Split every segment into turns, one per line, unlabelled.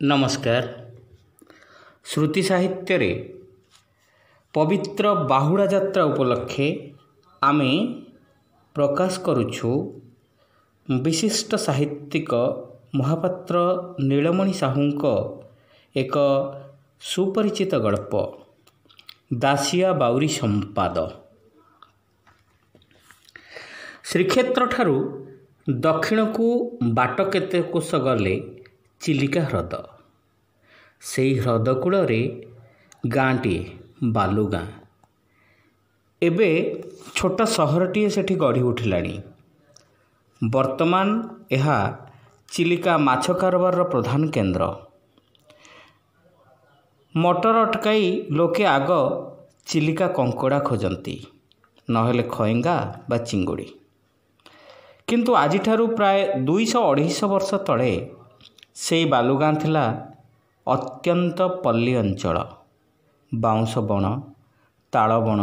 ନମସ୍କାର। ଶ୍ରୁତି ସାହିତ୍ୟରେ ପବିତ୍ର ବାହୁଡ଼ା ଯାତ୍ରା ଉପଲକ୍ଷେ ଆମେ ପ୍ରକାଶ କରୁଛୁ ବିଶିଷ୍ଟ ସାହିତ୍ୟିକ ମହାପାତ୍ର ନୀଳମଣି ସାହୁଙ୍କ ଏକ ସୁପରିଚିତ ଗଳ୍ପ ଦାସିଆ ବାଉରୀ ସମ୍ପାଦ। ଶ୍ରୀକ୍ଷେତ୍ରଠାରୁ ଦକ୍ଷିଣକୁ ବାଟ କେତେ କୋଶ ଗଲେ ଚିଲିକା ହ୍ରଦ। ସେଇ ହ୍ରଦ କୂଳରେ ଗାଁଟିଏ, ବାଲୁଗାଁ। ଏବେ ଛୋଟ ସହରଟିଏ ସେଠି ଗଢ଼ି ଉଠିଲାଣି। ବର୍ତ୍ତମାନ ଏହା ଚିଲିକା ମାଛ କାରବାରର ପ୍ରଧାନ କେନ୍ଦ୍ର। ମଟର ଅଟକାଇ ଲୋକେ ଆଗ ଚିଲିକା କଙ୍କଡ଼ା ଖୋଜନ୍ତି, ନହେଲେ ଖଇଙ୍ଗା ବା ଚିଙ୍ଗୁଡ଼ି। କିନ୍ତୁ ଆଜିଠାରୁ ପ୍ରାୟ 200-250 ବର୍ଷ ତଳେ ସେଇ ବାଲୁଗାଁ ଥିଲା ଅତ୍ୟନ୍ତ ପଲ୍ଲୀ ଅଞ୍ଚଳ। ବାଉଁଶ ବଣ, ତାଳବଣ,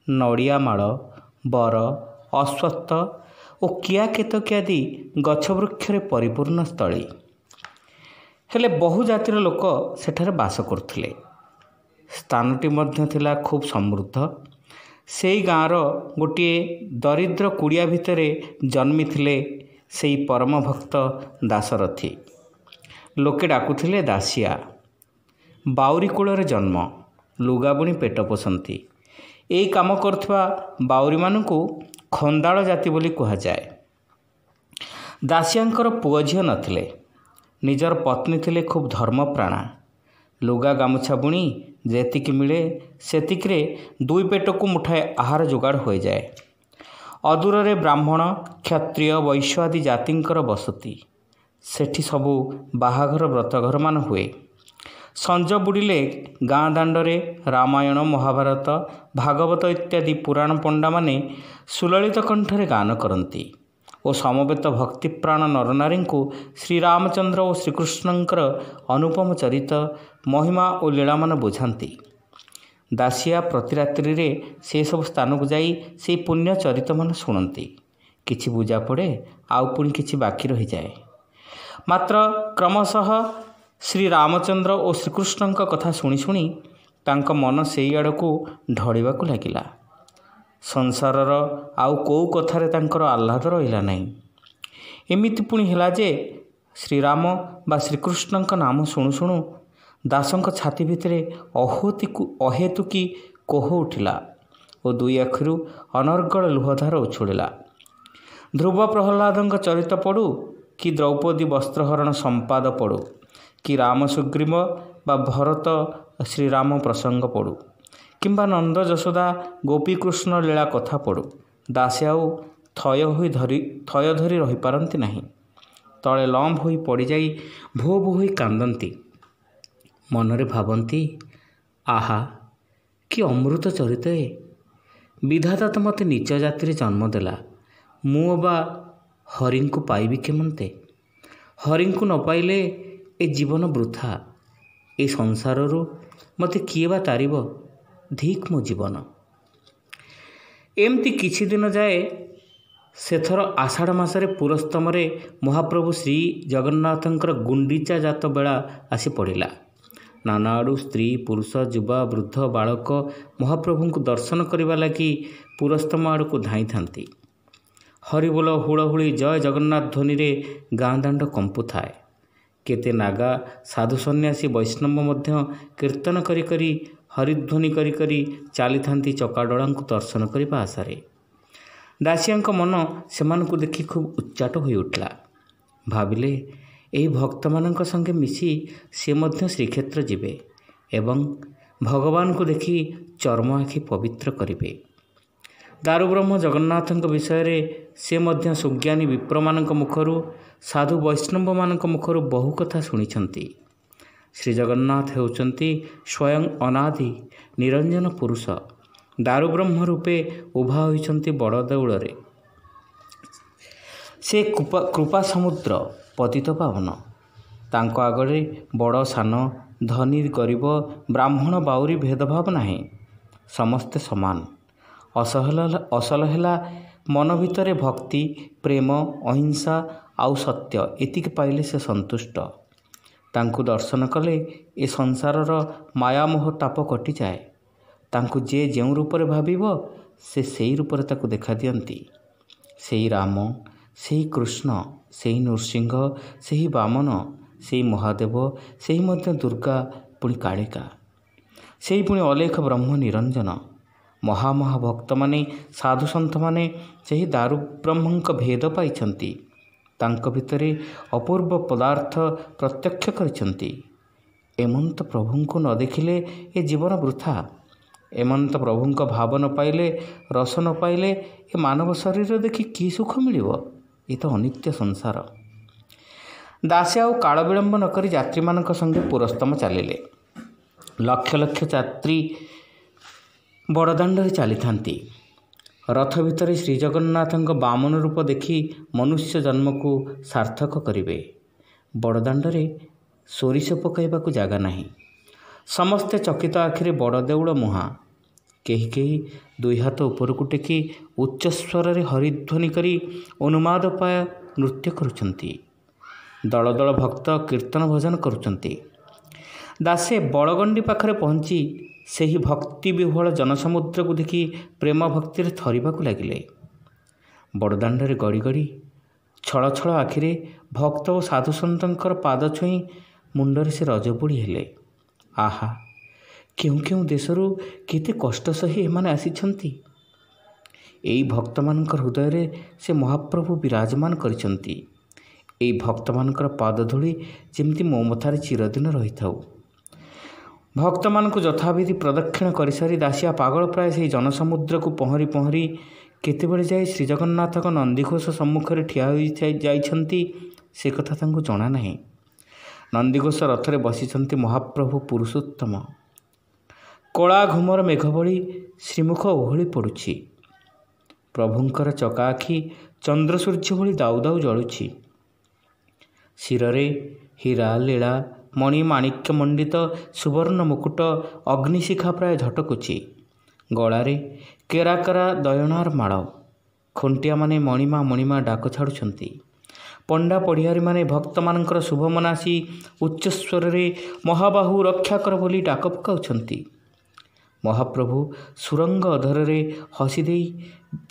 ନଡ଼ିଆମାଳ, ବର, ଅଶ୍ୱତ୍ଥ ଓ କିଆ କେତକୀ ଆଦି ଗଛବୃକ୍ଷରେ ପରିପୂର୍ଣ୍ଣ ସ୍ଥଳୀ। ହେଲେ ବହୁ ଜାତିର ଲୋକ ସେଠାରେ ବାସ କରୁଥିଲେ। ସ୍ଥାନଟି ମଧ୍ୟ ଥିଲା ଖୁବ୍ ସମୃଦ୍ଧ। ସେଇ ଗାଁର ଗୋଟିଏ ଦରିଦ୍ର କୁଡ଼ିଆ ଭିତରେ ଜନ୍ମିଥିଲେ ସେଇ ପରମ ଭକ୍ତ ଦାଶରଥି। ଲୋକେ ଡାକୁଥିଲେ ଦାସିଆ। ବାଉରୀ କୂଳରେ ଜନ୍ମ, ଲୁଗା ବୁଣି ପେଟ ପୋଷନ୍ତି। ଏଇ କାମ କରୁଥିବା ବାଉରୀମାନଙ୍କୁ ଖନ୍ଦାଳ ଜାତି ବୋଲି କୁହାଯାଏ। ଦାସିଆଙ୍କର ପୁଅ ଝିଅ ନଥିଲେ। ନିଜର ପତ୍ନୀ ଥିଲେ ଖୁବ୍ ଧର୍ମପ୍ରାଣା। ଲୁଗା ଗାମୁଛା ବୁଣି ଯେତିକି ମିଳେ ସେତିକିରେ ଦୁଇ ପେଟକୁ ମୁଠାଏ ଆହାର ଯୋଗାଡ଼ ହୋଇଯାଏ। ଅଦୂରରେ ବ୍ରାହ୍ମଣ, କ୍ଷତ୍ରିୟ, ବୈଶ୍ୟ ଆଦି ଜାତିଙ୍କର ବସତି। ସେଠି ସବୁ ବାହାଘର ବ୍ରତଘରମାନ ହୁଏ। ସଞ୍ଜ ବୁଡ଼ିଲେ ଗାଁ ଦାଣ୍ଡରେ ରାମାୟଣ, ମହାଭାରତ, ଭାଗବତ ଇତ୍ୟାଦି ପୁରାଣ ପଣ୍ଡାମାନେ ସୁଲଳିତ କଣ୍ଠରେ ଗାନ କରନ୍ତି ଓ ସମବେତ ଭକ୍ତିପ୍ରାଣ ନରନାରୀଙ୍କୁ ଶ୍ରୀରାମଚନ୍ଦ୍ର ଓ ଶ୍ରୀକୃଷ୍ଣଙ୍କର ଅନୁପମ ଚରିତ, ମହିମା ଓ ଲୀଳାମାନ ବୁଝାନ୍ତି। ଦାସିଆ ପ୍ରତି ରାତ୍ରିରେ ସେସବୁ ସ୍ଥାନକୁ ଯାଇ ସେଇ ପୁଣ୍ୟ ଚରିତମାନ ଶୁଣନ୍ତି। କିଛି ବୁଝା ପଡ଼େ, ଆଉ ପୁଣି କିଛି ବାକି ରହିଯାଏ। ମାତ୍ର କ୍ରମଶଃ ଶ୍ରୀରାମଚନ୍ଦ୍ର ଓ ଶ୍ରୀକୃଷ୍ଣଙ୍କ କଥା ଶୁଣି ଶୁଣି ତାଙ୍କ ମନ ସେଇ ଆଡ଼କୁ ଢଳିବାକୁ ଲାଗିଲା। ସଂସାରର ଆଉ କେଉଁ କଥାରେ ତାଙ୍କର ଆହ୍ଲାଦ ରହିଲା ନାହିଁ। ଏମିତି ପୁଣି ହେଲା ଯେ ଶ୍ରୀରାମ ବା ଶ୍ରୀକୃଷ୍ଣଙ୍କ ନାମ ଶୁଣୁ ଶୁଣୁ ଦାସଙ୍କ ଛାତି ଭିତରେ ଅହେତୁକି କୋହ ଉଠିଲା ଓ ଦୁଇ ଆଖିରୁ ଅନର୍ଗଳ ଲୁହଧାର ଉଛୁଳିଲା। ଧ୍ରୁବ ପ୍ରହ୍ଲାଦଙ୍କ ଚରିତ ପଡ଼ୁ କି ଦ୍ରୌପଦୀ ବସ୍ତ୍ରହରଣ ସମ୍ପାଦ ପଡ଼ୁ କି ରାମ ସୁଗ୍ରୀବ ବା ଭରତ ଶ୍ରୀରାମ ପ୍ରସଙ୍ଗ ପଡ଼ୁ କିମ୍ବା ନନ୍ଦ ଯଶୋଦା ଗୋପୀକୃଷ୍ଣ ଲୀଳା କଥା ପଡ଼ୁ, ଦାସେ ଆଉ ଥୟ ଧରି ରହିପାରନ୍ତି ନାହିଁ। ତଳେ ଲମ୍ବ ହୋଇ ପଡ଼ିଯାଇ ଭୋ ଭୋ ହୋଇ କାନ୍ଦନ୍ତି। ମନରେ ଭାବନ୍ତି, ଆହା କି ଅମୃତ ଚରିତ ଏ! ବିଧାତା ତ ମୋତେ ନୀଚ ଜାତିରେ ଜନ୍ମ ଦେଲା, ମୁଁ ଅବା ହରିଙ୍କୁ ପାଇବି କେମନ୍ତେ? ହରିଙ୍କୁ ନ ପାଇଲେ ଏ ଜୀବନ ବୃଥା। ଏ ସଂସାରରୁ ମୋତେ କିଏ ବା ତାରିବ? ଧିକ୍ ମୋ ଜୀବନ। ଏମିତି କିଛି ଦିନ ଯାଏ। ସେଥର ଆଷାଢ଼ ମାସରେ ପୁରସ୍ତମରେ ମହାପ୍ରଭୁ ଶ୍ରୀ ଜଗନ୍ନାଥଙ୍କର ଗୁଣ୍ଡିଚା ଜାତ ବେଳା ଆସି ପଡ଼ିଲା। ନାନା ଆଡ଼ୁ ସ୍ତ୍ରୀ, ପୁରୁଷ, ଯୁବା, ବୃଦ୍ଧ, ବାଳକ ମହାପ୍ରଭୁଙ୍କୁ ଦର୍ଶନ କରିବା ଲାଗି ପୁରସ୍ତମ ଆଡ଼କୁ ଧାଇଁଥାନ୍ତି। ହରିବୋଲ, ହୁଳହୁଳି, ଜୟ ଜଗନ୍ନାଥ ଧ୍ୱନିରେ ଗାଁ ଦାଣ୍ଡ କମ୍ପୁଥାଏ। କେତେ ନାଗା ସାଧୁ ସନ୍ନ୍ୟାସୀ ବୈଷ୍ଣବ ମଧ୍ୟ କୀର୍ତ୍ତନ କରି କରି, ହରିଧ୍ୱନି କରି କରି ଚାଲିଥାନ୍ତି ଚକାଡୋଳାଙ୍କୁ ଦର୍ଶନ କରିବା ଆଶାରେ। ଦାସିଆଙ୍କ ମନ ସେମାନଙ୍କୁ ଦେଖି ଖୁବ୍ ଉଚ୍ଚାଟ ହୋଇଉଠିଲା। ଭାବିଲେ, ଏହି ଭକ୍ତମାନଙ୍କ ସଙ୍ଗେ ମିଶି ସେ ମଧ୍ୟ ଶ୍ରୀକ୍ଷେତ୍ର ଯିବେ ଏବଂ ଭଗବାନଙ୍କୁ ଦେଖି ଚର୍ମ ଆଖି ପବିତ୍ର କରିବେ। ଦାରୁବ୍ରହ୍ମ ଜଗନ୍ନାଥଙ୍କ ବିଷୟରେ ସେ ମଧ୍ୟ ସୁଜ୍ଞାନୀ ବିପ୍ରମାନଙ୍କ ମୁଖରୁ, ସାଧୁ ବୈଷ୍ଣବମାନଙ୍କ ମୁଖରୁ ବହୁ କଥା ଶୁଣିଛନ୍ତି। ଶ୍ରୀଜଗନ୍ନାଥ ହେଉଛନ୍ତି ସ୍ୱୟଂ ଅନାଦି ନିରଞ୍ଜନ ପୁରୁଷ। ଦାରୁବ୍ରହ୍ମ ରୂପେ ଉଭା ହୋଇଛନ୍ତି ବଡ଼ ଦେଉଳରେ। ସେ କୃପା ସମୁଦ୍ର, ପତିତ ପାବନ। ତାଙ୍କ ଆଗରେ ବଡ଼ ସାନ, ଧନୀ ଗରିବ, ବ୍ରାହ୍ମଣ ବାଉରୀ ଭେଦଭାବ ନାହିଁ। ସମସ୍ତେ ସମାନ। ଅସଲ ହେଲା ମନ ଭିତରେ ଭକ୍ତି, ପ୍ରେମ, ଅହିଂସା ଆଉ ସତ୍ୟ, ଏତିକି ପାଇଲେ ସେ ସନ୍ତୁଷ୍ଟ। ତାଙ୍କୁ ଦର୍ଶନ କଲେ ଏ ସଂସାରର ମାୟାମୋହ ତାପ କଟିଯାଏ। ତାଙ୍କୁ ଯେ ଯେଉଁ ରୂପରେ ଭାବିବ ସେ ସେଇ ରୂପରେ ତାକୁ ଦେଖାଦିଅନ୍ତି। ସେଇ ରାମ, ସେଇ କୃଷ୍ଣ, ସେଇ ନୃସିଂହ, ସେହି ବାମନ, ସେଇ ମହାଦେବ, ସେହି ମଧ୍ୟ ଦୁର୍ଗା, ପୁଣି କାଳିକା, ସେଇ ପୁଣି ଅଲେଖ ବ୍ରହ୍ମ ନିରଞ୍ଜନ। ମହାମହା ଭକ୍ତମାନେ, ସାଧୁସନ୍ଥମାନେ ସେହି ଦାରୁବ୍ରହ୍ମଙ୍କ ଭେଦ ପାଇଛନ୍ତି। ତାଙ୍କ ଭିତରେ ଅପୂର୍ବ ପଦାର୍ଥ ପ୍ରତ୍ୟକ୍ଷ କରିଛନ୍ତି। ଏମନ୍ତ ପ୍ରଭୁଙ୍କୁ ନ ଦେଖିଲେ ଏ ଜୀବନ ବୃଥା। ଏମନ୍ତ ପ୍ରଭୁଙ୍କ ଭାବ ନ ପାଇଲେ, ରସ ନ ପାଇଲେ ଏ ମାନବ ଶରୀର ଦେଖି କି ସୁଖ ମିଳିବ? ଏ ତ ଅନିତ୍ୟ ସଂସାର। ଦାସେ ଆଉ କାଳ ବିଳମ୍ବ ନକରି ଯାତ୍ରୀମାନଙ୍କ ସଙ୍ଗେ ପୁରସ୍ତମ ଚାଲିଲେ। ଲକ୍ଷ ଲକ୍ଷ ଯାତ୍ରୀ ବଡ଼ଦାଣ୍ଡରେ ଚାଲିଥାନ୍ତି। ରଥ ଭିତରେ ଶ୍ରୀଜଗନ୍ନାଥଙ୍କ ବାମନ ରୂପ ଦେଖି ମନୁଷ୍ୟ ଜନ୍ମକୁ ସାର୍ଥକ କରିବେ। ବଡ଼ଦାଣ୍ଡରେ ସୋରିଷ ପକାଇବାକୁ ଜାଗା ନାହିଁ। ସମସ୍ତେ ଚକିତ ଆଖିରେ ବଡ଼ ଦେଉଳ ମୁହାଁ। କେହି କେହି ଦୁଇ ହାତ ଉପରକୁ ଟେକି ଉଚ୍ଚସ୍ୱରରେ ହରିଧ୍ୱନି କରି ଉନ୍ମାଦ ପ୍ରାୟ ନୃତ୍ୟ କରୁଛନ୍ତି। ଦଳ ଦଳ ଭକ୍ତ କୀର୍ତ୍ତନ ଭଜନ କରୁଛନ୍ତି। ଦାସେ ବଳଗଣ୍ଡି ପାଖରେ ପହଞ୍ଚି ସେହି ଭକ୍ତି ବିହ୍ୱଳ ଜନସମୁଦ୍ରକୁ ଦେଖି ପ୍ରେମ ଭକ୍ତିରେ ଥରିବାକୁ ଲାଗିଲେ। ବଡ଼ଦାଣ୍ଡରେ ଗଡ଼ି ଗଡ଼ି ଛଳ ଛଳ ଆଖିରେ ଭକ୍ତ ଓ ସାଧୁସନ୍ଥଙ୍କର ପାଦ ଛୁଇଁ ମୁଣ୍ଡରେ ସେ ରଜବୁଡ଼ି ହେଲେ। ଆହା, କେଉଁ କେଉଁ ଦେଶରୁ କେତେ କଷ୍ଟ ସହି ଏମାନେ ଆସିଛନ୍ତି। ଏଇ ଭକ୍ତମାନଙ୍କ ହୃଦୟରେ ସେ ମହାପ୍ରଭୁ ବିରାଜମାନ କରିଛନ୍ତି। ଏଇ ଭକ୍ତମାନଙ୍କର ପାଦଧୂଳି ଯେମିତି ମୋ ମଥାରେ ଚିରଦିନ ରହିଥାଉ। ଭକ୍ତମାନଙ୍କୁ ଯଥାବିଧି ପ୍ରଦକ୍ଷିଣ କରିସାରି ଦାସିଆ ପାଗଳ ପ୍ରାୟ ସେହି ଜନସମୁଦ୍ରକୁ ପହଁରି ପହଁରି କେତେବେଳେ ଯାଇ ଶ୍ରୀଜଗନ୍ନାଥଙ୍କ ନନ୍ଦିଘୋଷ ସମ୍ମୁଖରେ ଠିଆ ହୋଇ ଯାଇଛନ୍ତି ସେ କଥା ତାଙ୍କୁ ଜଣା ନାହିଁ। ନନ୍ଦିଘୋଷ ରଥରେ ବସିଛନ୍ତି ମହାପ୍ରଭୁ ପୁରୁଷୋତ୍ତମ। କଳା ଘୁମର ମେଘ ଭଳି ଶ୍ରୀମୁଖ ଓହଳି ପଡ଼ୁଛି। ପ୍ରଭୁଙ୍କର ଚକା ଆଖି ଚନ୍ଦ୍ରସୂର୍ଯ୍ୟ ଭଳି ଦାଉ ଦାଉ ଜଳୁଛି। ଶିରରେ ହୀରା ଲୀଳା ମଣି ମାଣିକ୍ୟ ମଣ୍ଡିତ ସୁବର୍ଣ୍ଣ ମୁକୁଟ ଅଗ୍ନିଶିଖା ପ୍ରାୟ ଝଟକୁଛି। ଗଳାରେ କେରାକେରା ଦୟଣାର ମାଳ। ଖୁଣ୍ଟିଆମାନେ ମଣିମା ମଣିମା ଡାକ ଛାଡ଼ୁଛନ୍ତି। ପଣ୍ଡା ପଢ଼ିଆରୀମାନେ ଭକ୍ତମାନଙ୍କର ଶୁଭ ମନାସି ଉଚ୍ଚସ୍ୱରରେ ମହାବାହୁ ରକ୍ଷା କର ବୋଲି ଡାକ ପକାଉଛନ୍ତି। ମହାପ୍ରଭୁ ସୁରଙ୍ଗ ଅଧରରେ ହସି ଦେଇ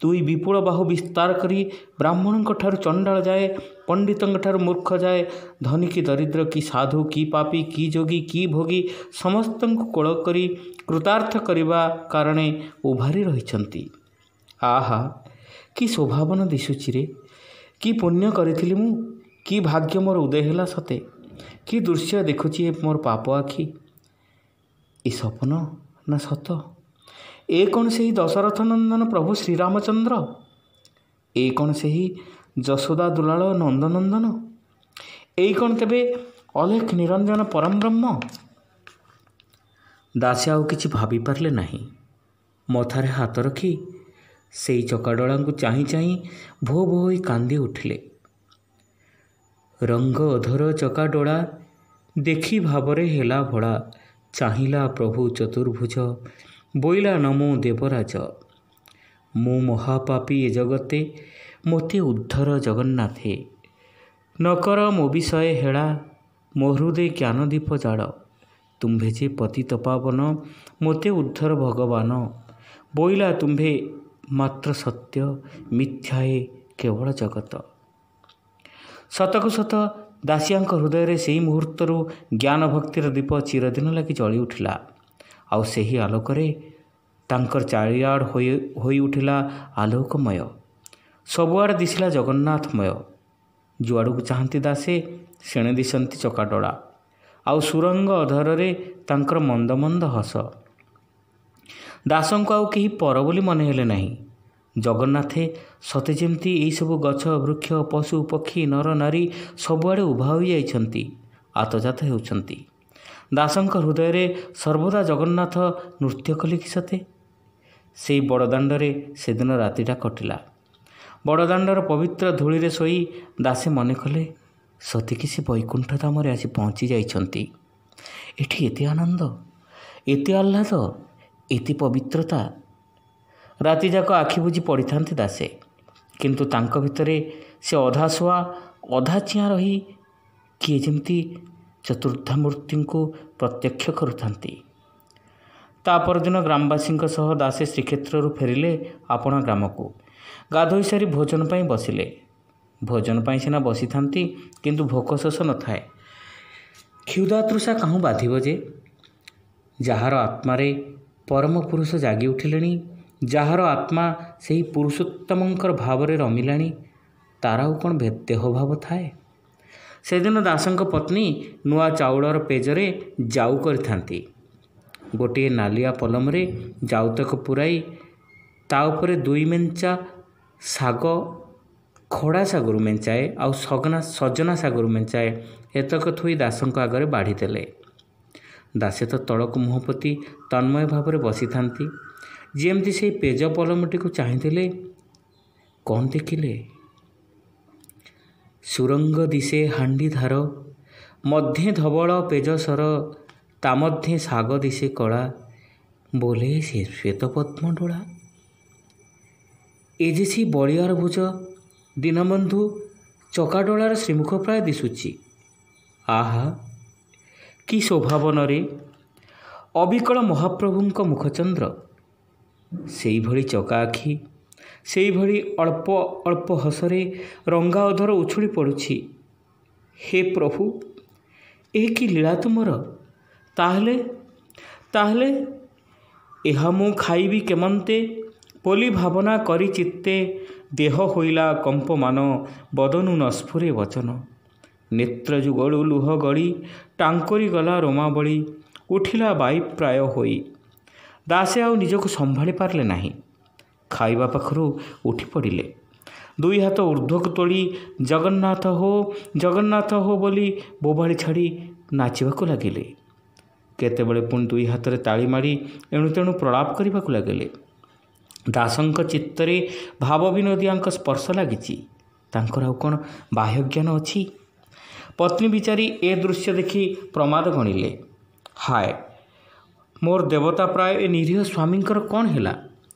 ଦୁଇ ବିପୁଳ ବାହୁ ବିସ୍ତାର କରି ବ୍ରାହ୍ମଣଙ୍କ ଠାରୁ ଚଣ୍ଡାଳ ଯାଏ, ପଣ୍ଡିତଙ୍କ ଠାରୁ ମୂର୍ଖ ଯାଏ, ଧନୀ କି ଦରିଦ୍ର, କି ସାଧୁ କି ପାପୀ, କି ଯୋଗୀ କି ଭୋଗୀ, ସମସ୍ତଙ୍କୁ କୋଳ କରି କୃତାର୍ଥ କରିବା କାରଣେ ଉଭାରି ରହିଛନ୍ତି। ଆହା, କି ଶୋଭାବନ ଦିଶୁଛି ରେ! କି ପୁଣ୍ୟ କରିଥିଲି ମୁଁ! କି ଭାଗ୍ୟ ମୋର ଉଦୟ ହେଲା ସତେ! କି ଦୃଶ୍ୟ ଦେଖୁଛି ଏ ମୋର ପାପ ଆଖି! ଏ ସପନ ନା ସତ? ଏ କ'ଣ ସେହି ଦଶରଥ ନନ୍ଦନ ପ୍ରଭୁ ଶ୍ରୀରାମଚନ୍ଦ୍ର? ଏ କ'ଣ ସେହି ଯଶୋଦା ଦୁଲାଳ ନନ୍ଦନନ୍ଦନ? ଏଇ କ'ଣ ତେବେ ଅଲେଖ ନିରଞ୍ଜନ ପରମବ୍ରହ୍ମ? ଦାସେ ଆଉ କିଛି ଭାବିପାରିଲେ ନାହିଁ। ମଥାରେ ହାତ ରଖି ସେଇ ଚକାଡୋଳାଙ୍କୁ ଚାହିଁ ଚାହିଁ ଭୋ ଭୋ ହୋଇ କାନ୍ଦି ଉଠିଲେ। ରଙ୍ଗ ଅଧର ଚକାଡୋଳା ଦେଖି ଭାବରେ ହେଲା ଭୋଳା, ଚାହିଁଲା ପ୍ରଭୁ ଚତୁର୍ଭୁଜ, ବୋଇଲା ନମୋ ଦେବରାଜ। ମୁଁ ମହାପାପୀ ଏ ଜଗତେ, ମୋତେ ଉଦ୍ଧର ଜଗନ୍ନାଥେ। ନକର ମୋ ବିଷୟ ହେଳା, ମୋ ହୃଦେ ଜ୍ଞାନଦୀପ ଜାଳ। ତୁମ୍ଭେ ଯେ ପତିତ ପାବନ, ମୋତେ ଉଦ୍ଧର ଭଗବାନ। ବୋଇଲା ତୁମ୍ଭେ ମାତ୍ର ସତ୍ୟ, ମିଥ୍ୟା ଏ କେବଳ ଜଗତ। ସତକୁ ସତ ଦାସିଆଙ୍କ ହୃଦୟରେ ସେଇ ମୁହୂର୍ତ୍ତରୁ ଜ୍ଞାନ ଭକ୍ତିର ଦୀପ ଚିରଦିନ ଲାଗି ଜଳି ଉଠିଲା। ଆଉ ସେହି ଆଲୋକରେ ତାଙ୍କର ଚାରିଆଡ଼ ହୋଇଉଠିଲା ଆଲୋକମୟ। ସବୁଆଡ଼େ ଦିଶିଲା ଜଗନ୍ନାଥମୟ। ଯୁଆଡ଼କୁ ଚାହାନ୍ତି ଦାସେ ସେଣେ ଦିଶନ୍ତି ଚକାଡୋଳା, ଆଉ ସୁରଙ୍ଗ ଅଧରରେ ତାଙ୍କର ମନ୍ଦ ମନ୍ଦ ହସ। ଦାସଙ୍କୁ ଆଉ କେହି ପର ବୋଲି ମନେ ହେଲେ ନାହିଁ। ଜଗନ୍ନାଥେ ସତେ ଯେମିତି ଏଇସବୁ ଗଛ ବୃକ୍ଷ ପଶୁ ପକ୍ଷୀ ନର ନାରୀ ସବୁଆଡ଼େ ଉଭା ହୋଇଯାଇଛନ୍ତି, ଆତଯାତ ହେଉଛନ୍ତି। ଦାସଙ୍କ ହୃଦୟରେ ସର୍ବଦା ଜଗନ୍ନାଥ ନୃତ୍ୟ କଲେ କି ସତେ? ସେଇ ବଡ଼ଦାଣ୍ଡରେ ସେଦିନ ରାତିଟା କଟିଲା। ବଡ଼ଦାଣ୍ଡର ପବିତ୍ର ଧୂଳିରେ ଶୋଇ ଦାସେ ମନେ କଲେ ସତେ କି ସେ ବୈକୁଣ୍ଠ ଧାମରେ ଆସି ପହଞ୍ଚି ଯାଇଛନ୍ତି। ଏଠି ଏତେ ଆନନ୍ଦ, ଏତେ ଆହ୍ଲାଦ, ଏତେ ପବିତ୍ରତା। ରାତିଯାକ ଆଖି ବୁଜି ପଡ଼ିଥାନ୍ତି ଦାସେ, କିନ୍ତୁ ତାଙ୍କ ଭିତରେ ସେ ଅଧା ଶୁଆ ଅଧା ଚିଆଁ ରହି କିଏ ଯେମିତି ଚତୁର୍ଦ୍ଧାମୂର୍ତ୍ତିଙ୍କୁ ପ୍ରତ୍ୟକ୍ଷ କରୁଥାନ୍ତି। ତା ପରଦିନ ଗ୍ରାମବାସୀଙ୍କ ସହ ଦାସେ ଶ୍ରୀକ୍ଷେତ୍ରରୁ ଫେରିଲେ ଆପଣା ଗ୍ରାମକୁ। ଗାଧୋଇ ସାରି ଭୋଜନ ପାଇଁ ବସିଲେ। ଭୋଜନ ପାଇଁ ସିନା ବସିଥାନ୍ତି, କିନ୍ତୁ ଭୋକ ଶୋଷ ନଥାଏ। କ୍ଷୁଧା ତୃଷା କାହୁଁ ବାଧିବ ଯେ? ଯାହାର ଆତ୍ମାରେ ପରମ ପୁରୁଷ ଜାଗି ଉଠିଲେଣି, ଯାହାର ଆତ୍ମା ସେହି ପୁରୁଷୋତ୍ତମଙ୍କର ଭାବରେ ରମିଲାଣି, ତାର ଆଉ କ'ଣ ଦେହଭାବ ଥାଏ? ସେଦିନ ଦାସଙ୍କ ପତ୍ନୀ ନୂଆ ଚାଉଳର ପେଜରେ ଜାଉ କରିଥାନ୍ତି। ଗୋଟିଏ ନାଲିଆ ପଲମରେ ଜାଉତକ ପୁରାଇ ତା ଉପରେ 2 ମେଞ୍ଚା ଶାଗ, ଖଡ଼ା ଶାଗରୁ ମେଞ୍ଚାଏ ଆଉ ସଜନା ଶାଗରୁ ମେଞ୍ଚାଏ, ଏତକ ଥୋଇ ଦାସଙ୍କ ଆଗରେ ବାଢ଼ିଦେଲେ। ଦାସେ ତ ତଳକୁ ମୁହଁ ପୋତି ତନ୍ମୟ ଭାବରେ ବସିଥାନ୍ତି। ଯେମିତି ସେଇ ପେଜ ପଲମଟିକୁ ଚାହିଁଥିଲେ, କ'ଣ ଦେଖିଲେ? ସୁରଙ୍ଗ ଦିଶେ ହାଣ୍ଡିଧାର, ମଧ୍ୟେ ଧବଳ ପେଜସର, ତା ମଧ୍ୟେ ଶାଗ ଦିଶେ କଳା, ବୋଲେ ସେ ଶ୍ୱେତପଦ୍ମ ଡୋଳା। ଏ ଯେ ସେଇ ବଳିଆର ଭୁଜ ଦୀନବନ୍ଧୁ ଚକାଡୋଳାର ଶ୍ରୀମୁଖ ପ୍ରାୟ ଦିଶୁଛି। ଆହା, କି ଶୋଭାବନରେ! ଅବିକଳ ମହାପ୍ରଭୁଙ୍କ ମୁଖଚନ୍ଦ୍ର। ସେଇଭଳି ଚକା ଆଖି, ସେଇଭଳି ଅଳ୍ପ ଅଳ୍ପ ହସରେ ରଙ୍ଗା ଅଧର ଉଛୁଳି ପଡ଼ୁଛି। ହେ ପ୍ରଭୁ, ଏ କି ଲୀଳା ତୁମର! ତାହେଲେ ତାହେଲେ ଏହା ମୁଁ ଖାଇବି କେମନ୍ତେ ବୋଲି ଭାବନା କରି ଚିତ୍ତେ, ଦେହ ହୋଇଲା କମ୍ପମାନ, ବଦନୁ ନସ୍ଫୁରେ ବଚନ। ନେତ୍ର ଯୁଗଳୁ ଲୁହ ଗଳି ଟାଙ୍କରି ଗଲା ରୋମାବଳି, ଉଠିଲା ବାଇପ୍ରାୟ ହୋଇ। ଦାସେ ଆଉ ନିଜକୁ ସମ୍ଭାଳି ପାରିଲେ ନାହିଁ। ଖାଇବା ପାଖରୁ ଉଠି ପଡ଼ିଲେ। ଦୁଇ ହାତ ଊର୍ଦ୍ଧ୍ୱକୁ ତୋଳି ଜଗନ୍ନାଥ ହୋ ଜଗନ୍ନାଥ ହୋ ବୋଲି ବୋବାଳି ଛାଡ଼ି ନାଚିବାକୁ ଲାଗିଲେ। କେତେବେଳେ ପୁଣି ଦୁଇ ହାତରେ ତାଳି ମାରି ଏଣୁତେଣୁ ପ୍ରଳାପ କରିବାକୁ ଲାଗିଲେ। ଦାସଙ୍କ ଚିତ୍ତରେ ଭାବ ବିନୋଦିଆଙ୍କ ସ୍ପର୍ଶ ଲାଗିଛି। ତାଙ୍କର ଆଉ କ'ଣ ବାହ୍ୟଜ୍ଞାନ ଅଛି? ପତ୍ନୀ ବିଚାରି ଏ ଦୃଶ୍ୟ ଦେଖି ପ୍ରମାଦ ଗଣିଲେ। ହାୟ, ମୋର ଦେବତା ପ୍ରାୟ ଏ ନିରୀହ ସ୍ୱାମୀଙ୍କର କ'ଣ ହେଲା?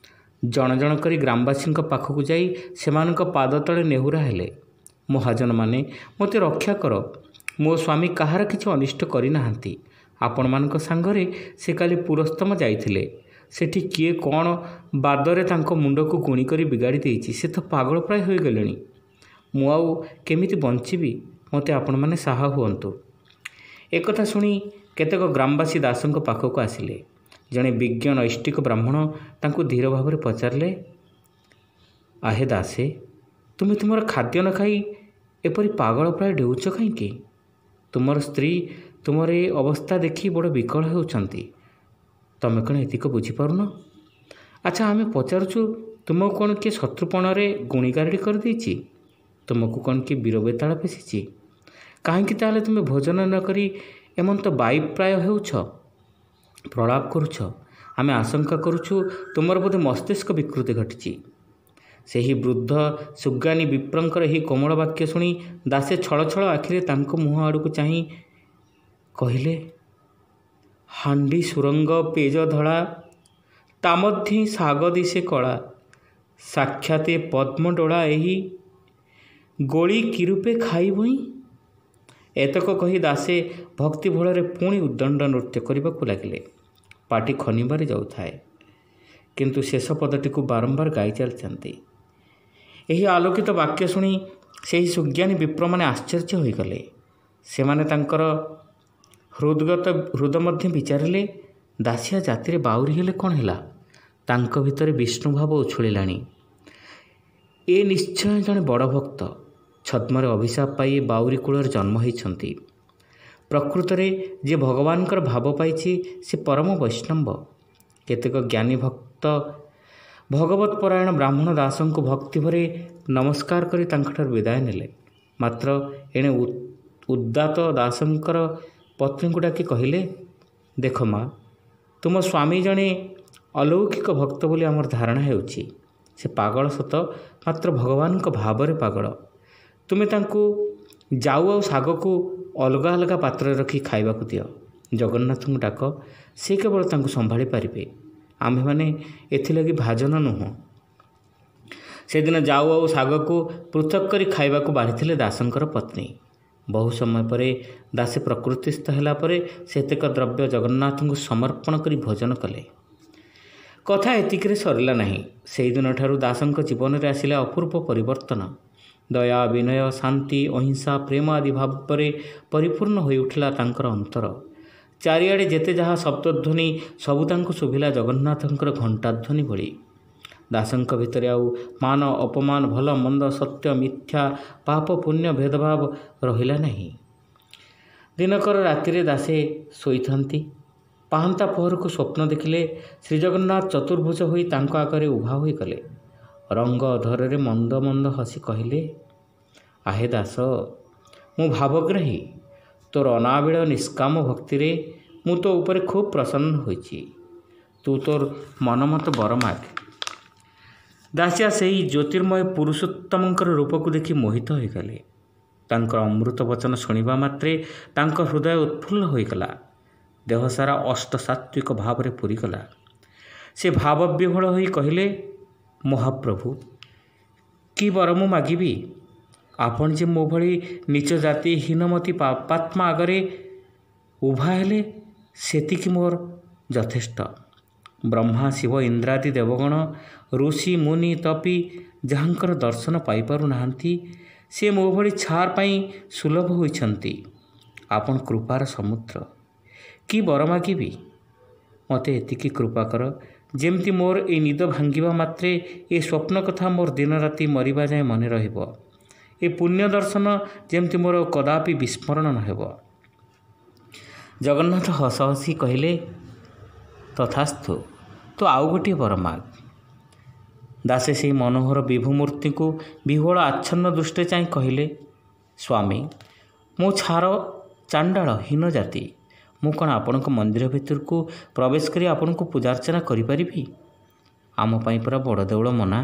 ଜଣ ଜଣ କରି ଗ୍ରାମବାସୀଙ୍କ ପାଖକୁ ଯାଇ ସେମାନଙ୍କ ପାଦ ତଳେ ନେହୁରା ହେଲେ। ମହାଜନମାନେ, ମୋତେ ରକ୍ଷା କର। ମୋ ସ୍ୱାମୀ କାହାର କିଛି ଅନିଷ୍ଟ କରିନାହାନ୍ତି। ଆପଣମାନଙ୍କ ସାଙ୍ଗରେ ସେ କାଲି ପୁରସ୍ତମ ଯାଇଥିଲେ। ସେଠି କିଏ କ'ଣ ବାଦରେ ତାଙ୍କ ମୁଣ୍ଡକୁ ଗୁଣି କରି ବିଗାଡ଼ି ଦେଇଛି। ସେ ତ ପାଗଳ ପ୍ରାୟ ହୋଇଗଲେଣି। ମୁଁ ଆଉ କେମିତି ବଞ୍ଚିବି? ମୋତେ ଆପଣମାନେ ସାହା ହୁଅନ୍ତୁ। ଏକଥା ଶୁଣି କେତେକ ଗ୍ରାମବାସୀ ଦାସଙ୍କ ପାଖକୁ ଆସିଲେ। ଜଣେ ବିଜ୍ଞ ନୈଷ୍ଠିକ ବ୍ରାହ୍ମଣ ତାଙ୍କୁ ଧୀର ଭାବରେ ପଚାରିଲେ, ଆହେ ଦାସେ, ତୁମେ ତୁମର ଖାଦ୍ୟ ନ ଖାଇ ଏପରି ପାଗଳ ପ୍ରାୟ ଡେଉଛ କାହିଁକି? ତୁମର ସ୍ତ୍ରୀ ତୁମର ଏ ଅବସ୍ଥା ଦେଖି ବଡ଼ ବିକଳ ହେଉଛନ୍ତି। ତମେ କ'ଣ ଏତିକ ବୁଝିପାରୁନ? ଆଚ୍ଛା, ଆମେ ପଚାରୁଛୁ, ତୁମକୁ କ'ଣ କିଏ ଶତ୍ରୁପଣରେ ଗୁଣିଗାରେଡ଼ି କରିଦେଇଛି? ତୁମକୁ କ'ଣ କିଏ ବୀରବେତାଳ ପେଶିଛି? କାହିଁକି ତାହେଲେ ତୁମେ ଭୋଜନ ନ କରି ଏମନ୍ତ ବାଇପ୍ରାୟ ହେଉଛ, ପ୍ରଳାପ କରୁଛ? ଆମେ ଆଶଙ୍କା କରୁଛୁ ତୁମର ବୋଧେ ମସ୍ତିଷ୍କ ବିକୃତି ଘଟିଛି। ସେହି ବୃଦ୍ଧ ସୁଜ୍ଞାନୀ ବିପ୍ରଙ୍କର ଏହି କୋମଳ ବାକ୍ୟ ଶୁଣି ଦାସେ ଛଳ ଛଳ ଆଖିରେ ତାଙ୍କ ମୁହଁ ଆଡ଼କୁ ଚାହିଁ କହିଲେ, ହାଣ୍ଡି ସୁରଙ୍ଗ ପେଜ ଧଳା, ତା ମଧ୍ୟେ ଶାଗ ଦିଶେ କଳା, ସାକ୍ଷାତେ ପଦ୍ମଡୋଳା ଏହି ଗୋଳି କିରୂପେ ଖାଇବଇଁ? ଏତକ କହି ଦାସେ ଭକ୍ତି ଭଳରେ ପୁଣି ଉଦ୍ଦଣ୍ଡ ନୃତ୍ୟ କରିବାକୁ ଲାଗିଲେ। ପାଟି ଖନିବାରେ ଯାଉଥାଏ, କିନ୍ତୁ ଶେଷ ପଦଟିକୁ ବାରମ୍ବାର ଗାଇ ଚାଲିଛନ୍ତି। ଏହି ଆଲୋକିତ ବାକ୍ୟ ଶୁଣି ସେହି ସୁଜ୍ଞାନୀ ବିପ୍ରମାନେ ଆଶ୍ଚର୍ଯ୍ୟ ହୋଇଗଲେ। ସେମାନେ ତାଙ୍କର ହୃଦଗତ ହୃଦ ମଧ୍ୟ ବିଚାରିଲେ, ଦାସିଆ ଜାତିରେ ବାଉରି ହେଲେ କ'ଣ ହେଲା, ତାଙ୍କ ଭିତରେ ବିଷ୍ଣୁଭାବ ଉଛୁଳିଲାଣି। ଏ ନିଶ୍ଚୟ ଜଣେ ବଡ଼ ଭକ୍ତ। ଛଦ୍ମରେ ଅଭିଶାପ ପାଇ ଏ ବାଉରି କୂଳରେ ଜନ୍ମ ହୋଇଛନ୍ତି। ପ୍ରକୃତରେ ଯିଏ ଭଗବାନଙ୍କର ଭାବ ପାଇଛି ସେ ପରମ ବୈଷ୍ଣବ। କେତେକ ଜ୍ଞାନୀ ଭକ୍ତ ଭଗବତ ପରାୟଣ ବ୍ରାହ୍ମଣ ଦାସଙ୍କୁ ଭକ୍ତିଭରେ ନମସ୍କାର କରି ତାଙ୍କଠାରୁ ବିଦାୟ ନେଲେ। ମାତ୍ର ଏଣେ ଉଦ୍ଦାତ ଦାସଙ୍କର ପତ୍ନୀଙ୍କୁ ଡାକି କହିଲେ, ଦେଖ ମା, ତୁମ ସ୍ୱାମୀ ଜଣେ ଅଲୌକିକ ଭକ୍ତ ବୋଲି ଆମର ଧାରଣା ହେଉଛି। ସେ ପାଗଳ ସତ, ମାତ୍ର ଭଗବାନଙ୍କ ଭାବରେ ପାଗଳ। ତୁମେ ତାଙ୍କୁ ଜାଉ ଆଉ ଶାଗକୁ ଅଲଗା ଅଲଗା ପାତ୍ରରେ ରଖି ଖାଇବାକୁ ଦିଅ। ଜଗନ୍ନାଥଙ୍କୁ ଡାକ, ସେ କେବଳ ତାଙ୍କୁ ସମ୍ଭାଳି ପାରିବେ। ଆମ୍ଭେମାନେ ଏଥିଲାଗି ଭାଜନ ନୁହଁ। ସେଦିନ ଜାଉ ଆଉ ଶାଗକୁ ପୃଥକ କରି ଖାଇବାକୁ ବାଢ଼ିଥିଲେ ଦାସଙ୍କର ପତ୍ନୀ। ବହୁ ସମୟ ପରେ ଦାସେ ପ୍ରକୃତିସ୍ଥ ହେଲା ପରେ ସେତେକ ଦ୍ରବ୍ୟ ଜଗନ୍ନାଥଙ୍କୁ ସମର୍ପଣ କରି ଭୋଜନ କଲେ। କଥା ଏତିକିରେ ସରିଲା ନାହିଁ। ସେଇଦିନଠାରୁ ଦାସଙ୍କ ଜୀବନରେ ଆସିଲା ଅପୂର୍ବ ପରିବର୍ତ୍ତନ। ଦୟା, ବିନୟ, ଶାନ୍ତି, ଅହିଂସା, ପ୍ରେମ ଆଦି ଭାବରେ ପରିପୂର୍ଣ୍ଣ ହୋଇଉଠିଲା ତାଙ୍କର ଅନ୍ତର। ଚାରିଆଡ଼େ ଯେତେ ଯାହା ଶବ୍ଦଧ୍ୱନି ସବୁ ତାଙ୍କୁ ଶୁଭିଲା ଜଗନ୍ନାଥଙ୍କର ଘଣ୍ଟାଧ୍ୱନି ଭଳି। ଦାସଙ୍କ ଭିତରେ ଆଉ ମାନ ଅପମାନ, ଭଲ ମନ୍ଦ, ସତ୍ୟ ମିଥ୍ୟା, ପାପ ପୁଣ୍ୟ ଭେଦଭାବ ରହିଲା ନାହିଁ। ଦିନକର ରାତିରେ ଦାସେ ଶୋଇଥାନ୍ତି। ପାହାନ୍ତା ପହରକୁ ସ୍ୱପ୍ନ ଦେଖିଲେ ଶ୍ରୀଜଗନ୍ନାଥ ଚତୁର୍ଭୁଜ ହୋଇ ତାଙ୍କ ଆଗରେ ଉଭା ହୋଇଗଲେ। ରଙ୍ଗ ଅଧରରେ ମନ୍ଦ ମନ୍ଦ ହସି କହିଲେ, ଆହେ ଦାସ, ମୁଁ ଭାବଗ୍ରାହୀ। ତୋର ଅନାବିଳ ନିଷ୍କାମ ଭକ୍ତିରେ ମୁଁ ତୋ ଉପରେ ଖୁବ୍ ପ୍ରସନ୍ନ ହୋଇଛି। ତୁ ତୋର ମନମତ ବର ମାଗ। ଦାସିଆ ସେହି ଜ୍ୟୋତିର୍ମୟ ପୁରୁଷୋତ୍ତମଙ୍କର ରୂପକୁ ଦେଖି ମୋହିତ ହୋଇଗଲେ। ତାଙ୍କର ଅମୃତ ବଚନ ଶୁଣିବା ମାତ୍ରେ ତାଙ୍କ ହୃଦୟ ଉତ୍ଫୁଲ୍ଲ ହୋଇଗଲା। ଦେହସାରା ଅଷ୍ଟସାତ୍ତ୍ୱିକ ଭାବରେ ପୂରିଗଲା। ସେ ଭାବବିହ୍ୱଳ ହୋଇ କହିଲେ, ମହାପ୍ରଭୁ, କି ବର ମୁଁ ମାଗିବି? ଆପଣ ଯେ ମୋ ଭଳି ନୀଚ ଜାତି ହୀନମତି ପାପାତ୍ମା ଆଗରେ ଉଭା ହେଲେ ସେତିକି ମୋର ଯଥେଷ୍ଟ। ବ୍ରହ୍ମା, ଶିବ, ଇନ୍ଦ୍ରାଦି ଦେବଗଣ, ଋଷି, ମୁନି, ତପି ଯାହାଙ୍କର ଦର୍ଶନ ପାଇପାରୁନାହାନ୍ତି, ସେ ମୋ ଭଳି ଛାର ପାଇଁ ସୁଲଭ ହୋଇଛନ୍ତି। ଆପଣ କୃପାର ସମୁଦ୍ର, କି ବର ମାଗିବି? ମୋତେ ଏତିକି କୃପା କର ଯେମିତି ମୋର ଏଇ ନିଦ ଭାଙ୍ଗିବା ମାତ୍ରେ ଏ ସ୍ୱପ୍ନ କଥା ମୋର ଦିନ ରାତି ମରିବା ଯାଏଁ ମନେ ରହିବ। ଏ ପୁଣ୍ୟ ଦର୍ଶନ ଯେମିତି ମୋର କଦାପି ବିସ୍ମରଣ ନ ହେବ। ଜଗନ୍ନାଥ ହସ ହସି କହିଲେ, ତଥାସ୍ତୁ, ତୁ ଆଉ ଗୋଟିଏ ବର ମାଗ। ଦାସେ ସେହି ମନୋହର ବିଭୁମୂର୍ତ୍ତିକୁ ବିହ୍ୱଳ ଆଚ୍ଛନ୍ନ ଦୃଷ୍ଟିରେ ଚାହିଁ କହିଲେ, ସ୍ୱାମୀ, ମୁଁ ଛାର ଚାଣ୍ଡାଳ ହୀନ ଜାତି। ମୁଁ କ'ଣ ଆପଣଙ୍କ ମନ୍ଦିର ଭିତରକୁ ପ୍ରବେଶ କରି ଆପଣଙ୍କୁ ପୂଜାର୍ଚ୍ଚନା କରିପାରିବି? ଆମ ପାଇଁ ପରା ବଡ଼ ଦେଉଳ ମନା।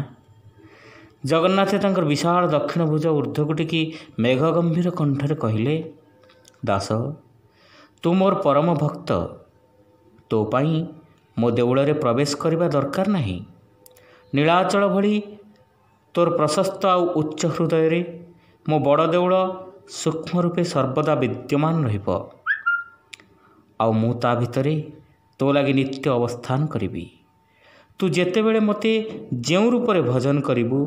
ଜଗନ୍ନାଥ ତାଙ୍କର ବିଶାଳ ଦକ୍ଷିଣ ଭୁଜ ଊର୍ଦ୍ଧ୍ୱକୁ ଟେକି ମେଘ ଗମ୍ଭୀର କଣ୍ଠରେ କହିଲେ, ଦାସ, ତୁ ମୋର ପରମ ଭକ୍ତ। ତୋ ପାଇଁ ମୋ ଦେଉଳରେ ପ୍ରବେଶ କରିବା ଦରକାର ନାହିଁ। ନୀଳାଚଳ ଭଳି ତୋର ପ୍ରଶସ୍ତ ଆଉ ଉଚ୍ଚ ହୃଦୟରେ ମୋ ବଡ଼ ଦେଉଳ ସୂକ୍ଷ୍ମ ରୂପେ ସର୍ବଦା ବିଦ୍ୟମାନ ରହିବ। ଆଉ ମୁଁ ତା ଭିତରେ ତୋ ଲାଗି ନିତ୍ୟ ଅବସ୍ଥାନ କରିବି। ତୁ ଯେତେବେଳେ ମୋତେ ଯେଉଁ ରୂପରେ ଭଜନ କରିବୁ,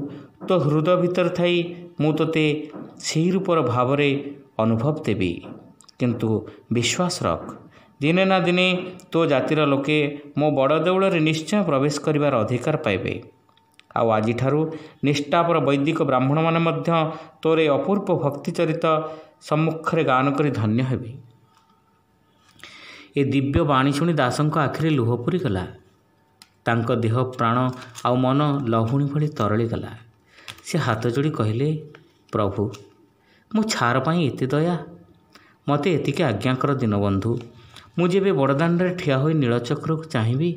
ତୋ ହୃଦୟ ଭିତରେ ଥାଇ ମୁଁ ତୋତେ ସେହି ରୂପର ଭାବରେ ଅନୁଭବ ଦେବି। କିନ୍ତୁ ବିଶ୍ୱାସ ରଖ, ଦିନେ ନା ଦିନେ ତୋ ଜାତିର ଲୋକେ ମୋ ବଡ଼ ଦେଉଳରେ ନିଶ୍ଚୟ ପ୍ରବେଶ କରିବାର ଅଧିକାର ପାଇବେ। ଆଉ ଆଜିଠାରୁ ନିଷ୍ଠାପର ବୈଦିକ ବ୍ରାହ୍ମଣମାନେ ମଧ୍ୟ ତୋର ଏ ଅପୂର୍ବ ଭକ୍ତିଚରିତ ସମ୍ମୁଖରେ ଗାନ କରି ଧନ୍ୟ ହେବେ। ଏ ଦିବ୍ୟ ବାଣୀ ଶୁଣି ଦାସଙ୍କ ଆଖିରେ ଲୁହ ପୂରିଗଲା। ତାଙ୍କ ଦେହ, ପ୍ରାଣ ଆଉ ମନ ଲହୁଣୀ ଭଳି ତରଳିଗଲା। ସେ ହାତ ଯୋଡ଼ି କହିଲେ, ପ୍ରଭୁ, ମୋ ଛାର ପାଇଁ ଏତେ ଦୟା! ମୋତେ ଏତିକି ଆଜ୍ଞା କର ଦୀନବନ୍ଧୁ, ମୁଁ ଯେବେ ବଡ଼ଦାଣ୍ଡରେ ଠିଆ ହୋଇ ନୀଳଚକ୍ରକୁ ଚାହିଁବି,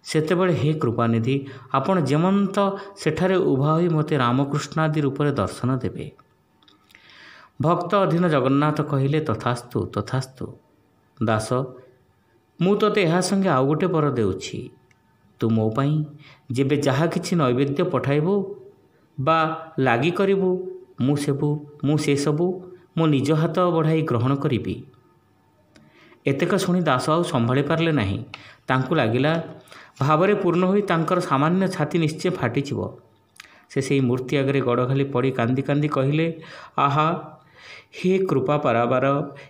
ସେତେବେଳେ ହେ କୃପାନିଧି, ଆପଣ ଯେମନ୍ତ ସେଠାରେ ଉଭା ହୋଇ ମୋତେ ରାମକୃଷ୍ଣ ଆଦି ରୂପରେ ଦର୍ଶନ ଦେବେ। ଭକ୍ତ ଅଧୀନ ଜଗନ୍ନାଥ କହିଲେ, ତଥାସ୍ତୁ, ତଥାସ୍ତୁ। ଦାସ, ମୁଁ ତୋତେ ଏହା ସଙ୍ଗେ ଆଉ ଗୋଟେ ବର ଦେଉଛି। ତୁ ମୋ ପାଇଁ ଯେବେ ଯାହା କିଛି ନୈବେଦ୍ୟ ପଠାଇବୁ ବା ଲାଗି କରିବୁ, ମୁଁ ସେସବୁ ମୋ ନିଜ ହାତ ବଢ଼ାଇ ଗ୍ରହଣ କରିବି। ଏତେକ ଶୁଣି ଦାସ ଆଉ ସମ୍ଭାଳି ପାରିଲେ ନାହିଁ। ତାଙ୍କୁ ଲାଗିଲା ଭାବରେ ପୂର୍ଣ୍ଣ ହୋଇ ତାଙ୍କର ସାମାନ୍ୟ ଛାତି ନିଶ୍ଚୟ ଫାଟିଯିବ। ସେ ସେହି ମୂର୍ତ୍ତି ଆଗରେ ଗଡ଼ଘାଲି ପଡ଼ି କାନ୍ଦି କାନ୍ଦି କହିଲେ, ଆହା, ହେ କୃପା ପାରାବାର,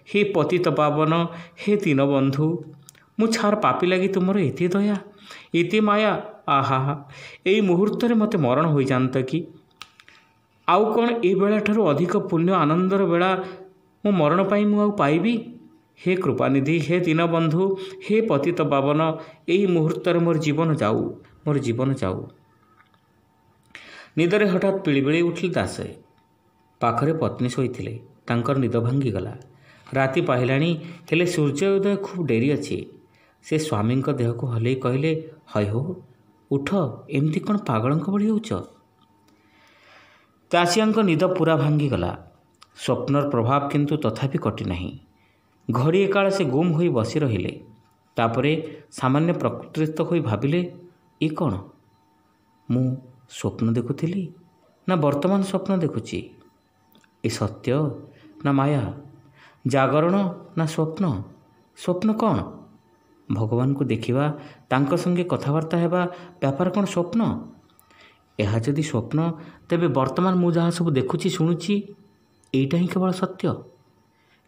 ହେ ପତିତ ପାବନ, ହେ ଦୀନବନ୍ଧୁ, ମୁଁ ଛାର ପାପି ଲାଗି ତୁମର ଏତେ ଦୟା, ଏତେ ମାୟା। ଆହା, ଏଇ ମୁହୂର୍ତ୍ତରେ ମୋତେ ମରଣ ହୋଇଯାନ୍ତା କି? ଆଉ କ'ଣ ଏ ବେଳାଠାରୁ ଅଧିକ ପୁଣ୍ୟ ଆନନ୍ଦର ବେଳା ମୋ ମରଣ ପାଇଁ ମୁଁ ଆଉ ପାଇବି? ହେ କୃପାନିଧି, ହେ ଦୀନବନ୍ଧୁ, ହେ ପତିତ ପାବନ, ଏଇ ମୁହୂର୍ତ୍ତରେ ମୋର ଜୀବନ ଯାଉ, ମୋର ଜୀବନ ଯାଉ। ନିଦରେ ହଠାତ୍ ପିଳିବିଳି ଉଠିଲେ ଦାସେ। ପାଖରେ ପତ୍ନୀ ଶୋଇଥିଲେ। ତାଙ୍କର ନିଦ ଭାଙ୍ଗିଗଲା। ରାତି ପାହିଲାଣି, ହେଲେ ସୂର୍ଯ୍ୟ ଉଦୟ ଖୁବ୍ ଡେରି ଅଛି। ସେ ସ୍ୱାମୀଙ୍କ ଦେହକୁ ହଲେଇ କହିଲେ, ହଇ ହୋ, ଉଠ, ଏମିତି କ'ଣ ପାଗଳଙ୍କ ଭଳି ହେଉଛ? ଦାସିଆଙ୍କ ନିଦ ପୂରା ଭାଙ୍ଗିଗଲା। ସ୍ୱପ୍ନର ପ୍ରଭାବ କିନ୍ତୁ ତଥାପି କଟିନାହିଁ। ଘଡ଼ିଏ କାଳ ସେ ଗୁମ୍ ହୋଇ ବସି ରହିଲେ। ତାପରେ ସାମାନ୍ୟ ପ୍ରକୃତିସ୍ଥ ହୋଇ ଭାବିଲେ, ଏ କ'ଣ ମୁଁ ସ୍ୱପ୍ନ ଦେଖୁଥିଲି ନା ବର୍ତ୍ତମାନ ସ୍ୱପ୍ନ ଦେଖୁଛି? ଏ ସତ୍ୟ ନା ମାୟା? ଜାଗରଣ ନା ସ୍ୱପ୍ନ? ସ୍ୱପ୍ନ କ'ଣ? ଭଗବାନଙ୍କୁ ଦେଖିବା, ତାଙ୍କ ସଙ୍ଗେ କଥାବାର୍ତ୍ତା ହେବା ବ୍ୟାପାର କ'ଣ ସ୍ୱପ୍ନ? ଏହା ଯଦି ସ୍ୱପ୍ନ, ତେବେ ବର୍ତ୍ତମାନ ମୁଁ ଯାହା ସବୁ ଦେଖୁଛି ଶୁଣୁଛି ଏଇଟା ହିଁ କେବଳ ସତ୍ୟ?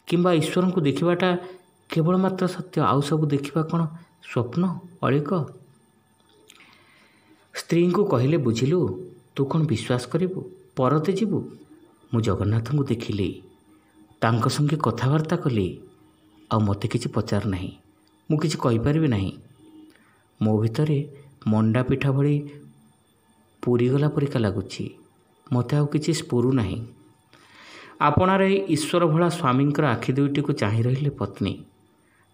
କିମ୍ବା ଈଶ୍ୱରଙ୍କୁ ଦେଖିବାଟା କେବଳ ମାତ୍ର ସତ୍ୟ, ଆଉ ସବୁ ଦେଖିବା କ'ଣ ସ୍ୱପ୍ନ ଅଳିକ? ସ୍ତ୍ରୀଙ୍କୁ କହିଲେ, ବୁଝିଲୁ, ତୁ କ'ଣ ବିଶ୍ୱାସ କରିବୁ? ପରତେ ଯିବୁ? ମୁଁ ଜଗନ୍ନାଥଙ୍କୁ ଦେଖିଲି, ତାଙ୍କ ସଙ୍ଗେ କଥାବାର୍ତ୍ତା କଲି, ଆଉ ମୋତେ କିଛି ପଚାର ନାହିଁ, ମୁଁ କିଛି କହିପାରିବି ନାହିଁ। ମୋ ଭିତରେ ମଣ୍ଡା ପିଠା ଭଳି ପୁରିଗଲା ପରିକା ଲାଗୁଛି, ମୋତେ ଆଉ କିଛି ସ୍ଫୁରୁ ନାହିଁ। ଆପଣାର ଏହି ଈଶ୍ୱର ଭଳା ସ୍ୱାମୀଙ୍କର ଆଖି ଦୁଇଟିକୁ ଚାହିଁ ରହିଲେ ପତ୍ନୀ।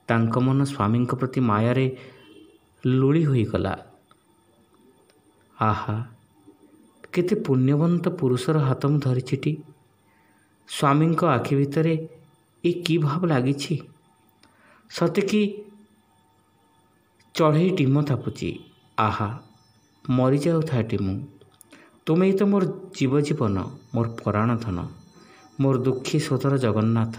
ତାଙ୍କ ମନ ସ୍ୱାମୀଙ୍କ ପ୍ରତି ମାୟାରେ ଲୁଳି ହୋଇଗଲା। ଆହା, କେତେ ପୁଣ୍ୟବନ୍ତ ପୁରୁଷର ହାତ ମୁଁ ଧରିଛିଟି! ସ୍ୱାମୀଙ୍କ ଆଖି ଭିତରେ ଏ କି ଭାବ ଲାଗିଛି! ସତେ କି ଚଢ଼େଇ ଟିମ ଥାପୁଛି। ଆହା, ମରିଯାଉଥାଟି ମୁଁ! ତୁମେ ତ ମୋର ଜୀବ ଜୀବନ, ମୋର ପରାଣ ଧନ, ମୋର ଦୁଃଖୀ ସୋଦର ଜଗନ୍ନାଥ।